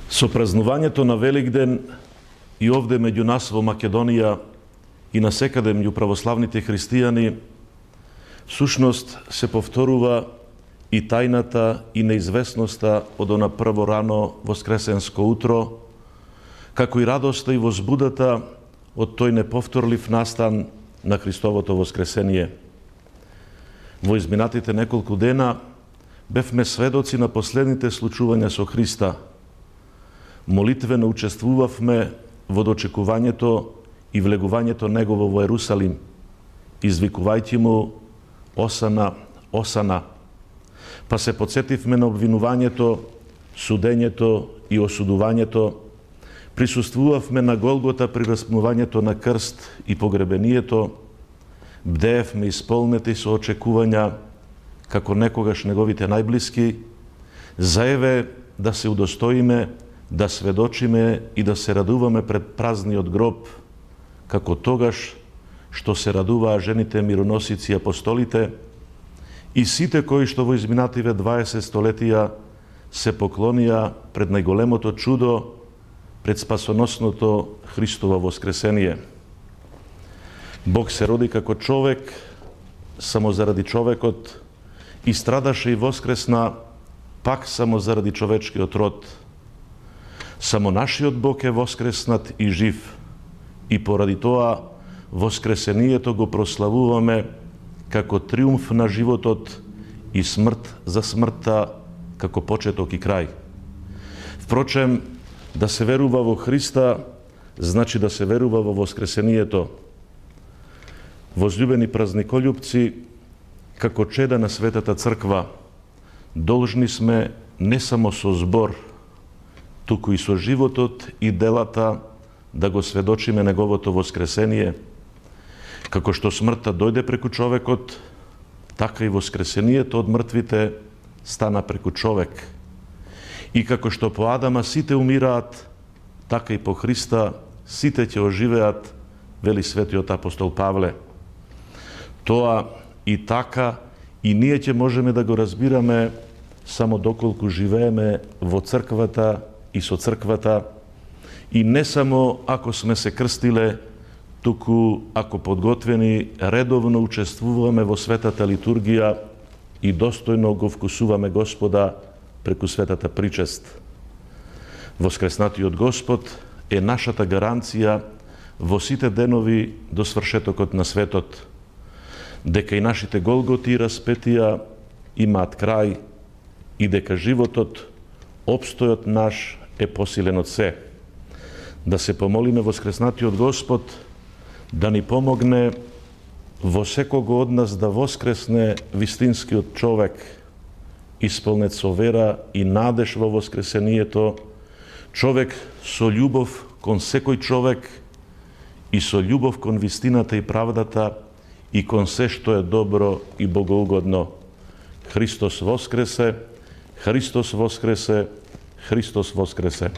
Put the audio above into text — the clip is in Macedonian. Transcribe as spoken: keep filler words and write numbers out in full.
Со празнувањето на Великден и овде меѓу нас во Македонија и насекаде меѓу православните христијани, всушност се повторува и тајната и неизвестноста од она прво рано воскресенско утро, како и радоста и возбудата од тој неповторлив настан на Христовото воскресение. Во изминатите неколку дена бевме сведоци на последните случувања со Христа. Молитвено учествувавме во дочекувањето и влегувањето Негово во Ерусалим, извикувајќи му Осана, Осана. Па се подсетивме на обвинувањето, судењето и осудувањето, присуствувавме на Голгота при распнувањето на крст и погребението, бдеевме исполнети со очекувања, како некогаш неговите најблиски, заеве да се удостоиме, да сведочиме и да се радуваме пред празниот гроб, како тогаш што се радуваа жените мироносици и апостолите и сите кои што во изминативе дваесет столетија се поклонија пред најголемото чудо, пред спасоносното Христово воскресение. Бог се роди како човек, само заради човекот, и страдаше и воскресна пак само заради човечкиот род. Само нашиот Бог е воскреснат и жив, и поради тоа воскресението го прославуваме како триумф на животот и смрт за смртта, како почеток и крај. Впрочем, да се верува во Христа, значи да се верува во воскресението. Возлюбени празниколюбци, како чеда на Светата Црква, должни сме не само со збор, туку и со животот и делата да го сведочиме Неговото воскресение. Како што смртта дојде преку човекот, така и воскресението од мртвите стана преку човек. И како што по Адама сите умираат, така и по Христа сите ќе оживеат, вели светиот апостол Павле. Тоа и така и ние ќе можеме да го разбираме само доколку живееме во црквата и со црквата, и не само ако сме се крстиле, туку ако подготвени редовно учествуваме во светата литургија и достојно го вкусуваме Господа преку светата причест. Воскреснатиот Господ е нашата гаранција во сите денови до свршетокот на светот, дека и нашите голготи и распетија имаат крај и дека животот, обстојот наш е посилен од се. Да се помолиме воскреснатиот Господ да ни помогне во секого од нас да воскресне вистинскиот човек, исполнет со вера и надеж во воскресението, човек со љубов кон секој човек и со љубов кон вистината и правдата и кон се што е добро и богоугодно. Христос воскресе, Христос воскресе, Христос воскресе.